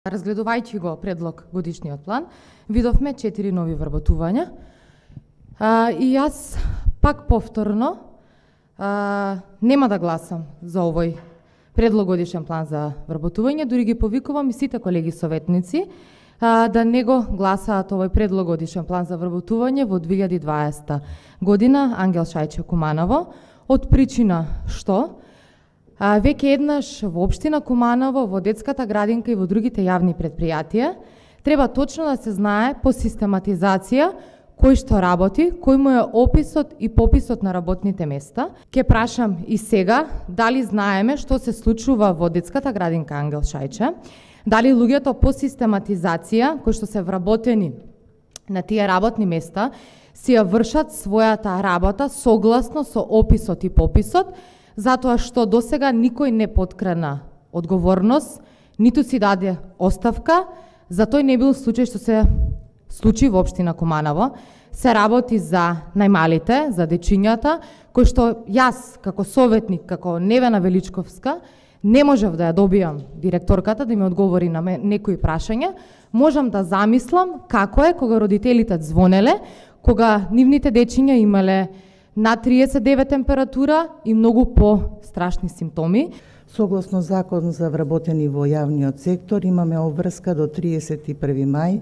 Разгледувајќи го предлог годишниот план, видовме 4 нови вработувања. И јас пак повторно нема да гласам за овој предлог годишен план за вработување, дури ги повикувам и сите колеги советници да не го гласаат овој предлог годишен план за вработување во 2020 година. Ангел Шајче Куманово, од причина што веќе еднаш во општина Куманово, во детската градинка и во другите јавни предпријатија треба точно да се знае по систематизација кој што работи, кој му е описот и пописот на работните места. Ке прашам и сега дали знаеме што се случува во детската градинка Ангел Шајче, дали луѓето по систематизација кои што се вработени на тие работни места си ја вршат својата работа согласно со описот и пописот, затоа што досега никој не подкрена одговорност, ниту си даде оставка, за тој не бил случај што се случи во општина Куманово. Се работи за најмалите, за дечињата, кои што јас како советник, како Невена Величковска, не можев да ја добијам директорката да ми одговори на некои прашања. Можам да замислам како е кога родителите звонеле, кога нивните дечиња имале над 39 температура и многу по-страшни симптоми. Согласно закон за вработени во јавниот сектор, имаме обврска до 31 мај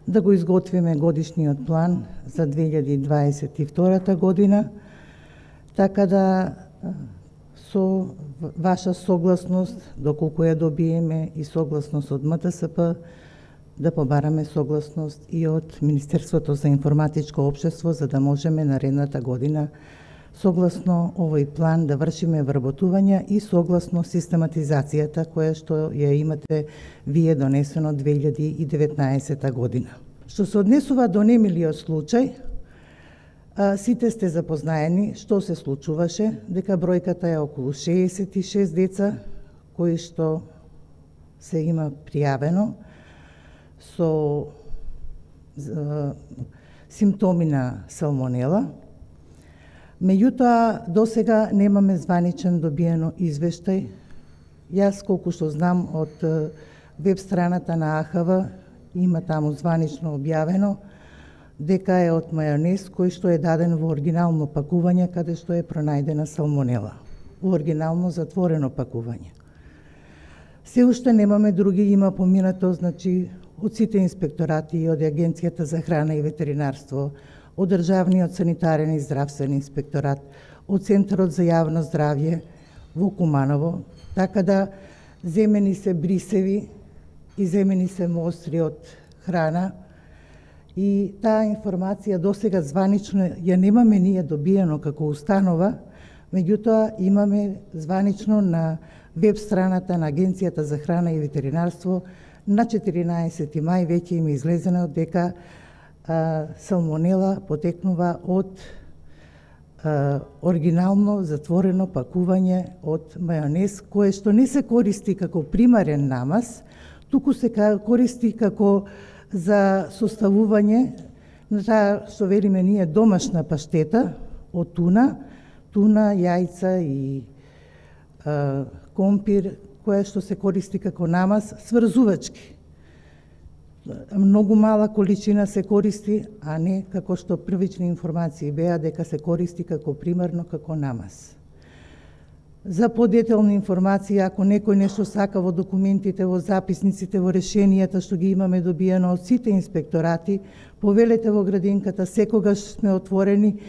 да го изготвиме годишниот план за 2022 година, така да со ваша согласност, доколку ја добиеме и согласност од МТСП, да побараме согласност и од Министерството за информатичко општество, за да можеме наредната година согласно овој план да вршиме вработувања и согласно систематизацијата која што ја имате вие донесено 2019 година. Што се однесува до немилиот случај, сите сте запознаени што се случуваше, дека бројката е околу 66 деца кои што се има пријавено со симптоми на салмонела. Меѓутоа, досега немаме званичен добиено извештај. Јас, колку што знам од веб страната на АХВ, има таму званично објавено дека е од мајонез кој што е даден во оригинално пакување, каде што е пронајдена салмонела. Во оригинално затворено пакување. Се уште немаме други, има поминато, значи, од сите инспекторати и од Агенцијата за храна и ветеринарство, од Државниот санитарен и здравствен инспекторат, од Центарот за јавно здравје во Куманово, така да земени се брисеви и земени се мостри од храна и таа информација досега званично ја немаме ние добиено како установа, меѓутоа имаме званично на веб страната на Агенцијата за храна и ветеринарство на 14 мај веќе им излезено дека салмонела потекнува од оригинално затворено пакување од мајонез, кое што не се користи како примарен намаз, туку се користи како за составување на таа што велиме ние домашна паштета од туна, јајца и компир, која што се користи како намаз, сврзувачки. Многу мала количина се користи, а не како што првични информации беа дека се користи како примарно како намаз. За подетелни информации, ако некој нешто сака во документите, во записниците, во решенијата што ги имаме добиено од сите инспекторати, повелете во градинката, секогаш сме отворени